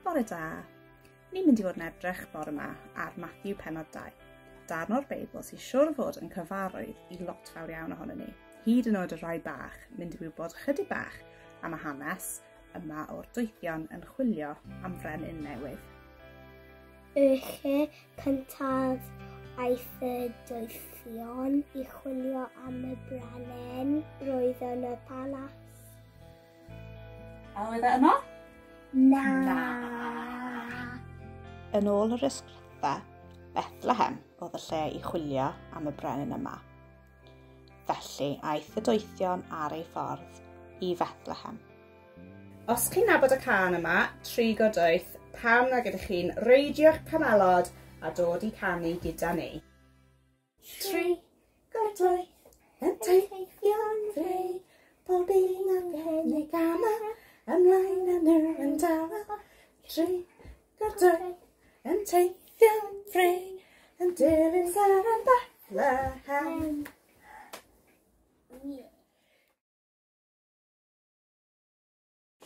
Bore da! Ni'n mynd i fod yn edrych bore yma ar Matthew pennod 2, darn o'r Beibl sy'n siwr fod yn cyfarwydd i lot fawr iawn ohono ni, hyd yn oed y rhai bach, mynd i wybod chydig bach am y hanes yma o'r doethion yn chwilio am frenin newydd. Y lle cyntaf aeth y doethion i chwilio am y brenin, roedd yn y palas. A oedd e yno? Na. Na. Yn ôl yr ysgrythau, Bethlehem oedd y lle i chwilio am y brenin yma. Felly aeth y doethion ar ei ffordd i Fethlehem. Os chi'n nabod y cân yma, Trigo Doeth, pam nag ydych chi'n reidio'ch camelod a dod i canu gyda ni? Trigo doeth yn teithio'n fri, pob un ar gefn ei gamau, ymlaen â nhw yn dawel. Trigo doeth yn teithio'n fri, yn dilyn seren Bethlehem. Yeah.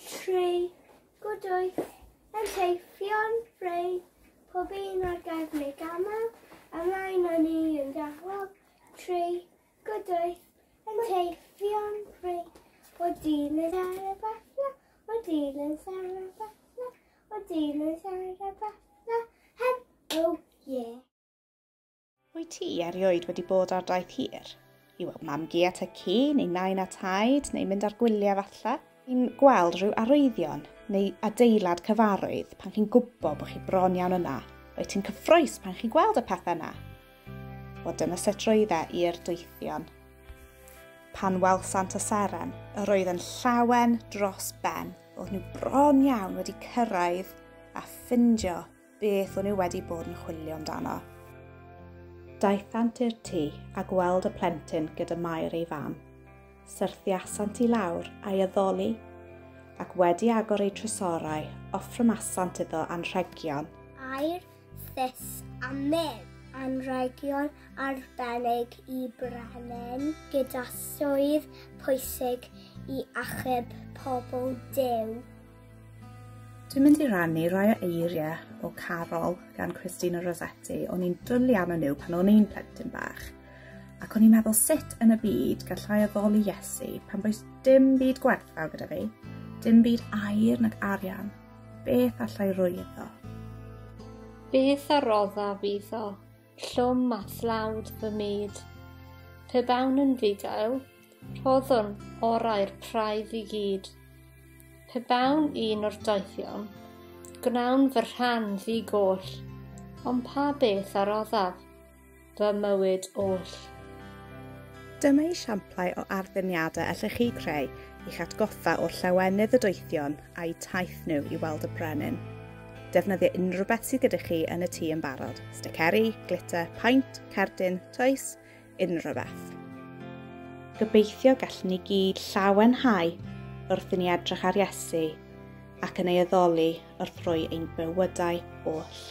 Trigo doeth yn teithio'n fri, pob un ar gefn ei gamau, ymlaen â ni yn dawel. Trigo doeth yn teithio'n fri, o dilyn seren Bethlehem, o dilyn seren Bethlehem, o dilyn seren Bethlehem, oh yeah. Wyt ti erioed wedi bod ar daith hir? I weld mam-gu a tad-cu, neu nain a taid, neu mynd ar gwyliau falle? Chi'n gweld rhyw arwyddion neu adeilad cyfarwydd pan chi'n gwybod bod chi bron iawn yna. Wyt ti'n cyffrous pan chi'n gweld y pethau yna? Wel, dyna sut roedd e i'r doethion. Pan welsant y seren, yr oedd yn llawen dros ben. Oedd nhw bron iawn wedi cyrraedd a ffindio beth o'n nhw wedi bod yn chwilio amdano. Daethant i'r tŷ a gweld y plentyn gyda Mair ei fam. Syrthiasant i lawr a'i addoli, ac wedi agor eu trysorau, offrymasant iddo anrhegion. Aur, thus a myrrh. Anrhegion arbennig i brenin gyda swydd pwysig i achub pobl Duw. Dwi'n mynd i rannu rai o eiriau o Carol gan Christina Rossetti. O'n i'n dwlu arnyn nhw pan o'n i'n plentyn bach. Ac o'n i'n meddwl sut yn y byd gallai addoli Iesu pan does dim byd gwerthfawr gyda fi, dim byd aur nag arian. Beth allai roi iddo? Beth a roddaf iddo, llwm a thlawd fy myd. Pe bawn yn fugail, rhoddwn orau'r praidd i gyd. Pe bawn un o'r doethion, gwnawn fy rhan ddi-goll, ond pa beth a roddaf, fy mywyd oll. Dyma esiamplau o ardduniadau allech chi creu i'ch atgoffa o llawenydd y doethion a'u taith nhw i weld y brenin. Defnyddio unrhyw beth sydd gyda chi yn y tŷ yn barod. Sticeri, glitter, paent, cerdyn, toes, unrhyw beth. Gobeithio gallwn ni gyd llawenhau wrth i ni edrych ar Iesu ac yn ei addoli wrth roi ein bywydau oll.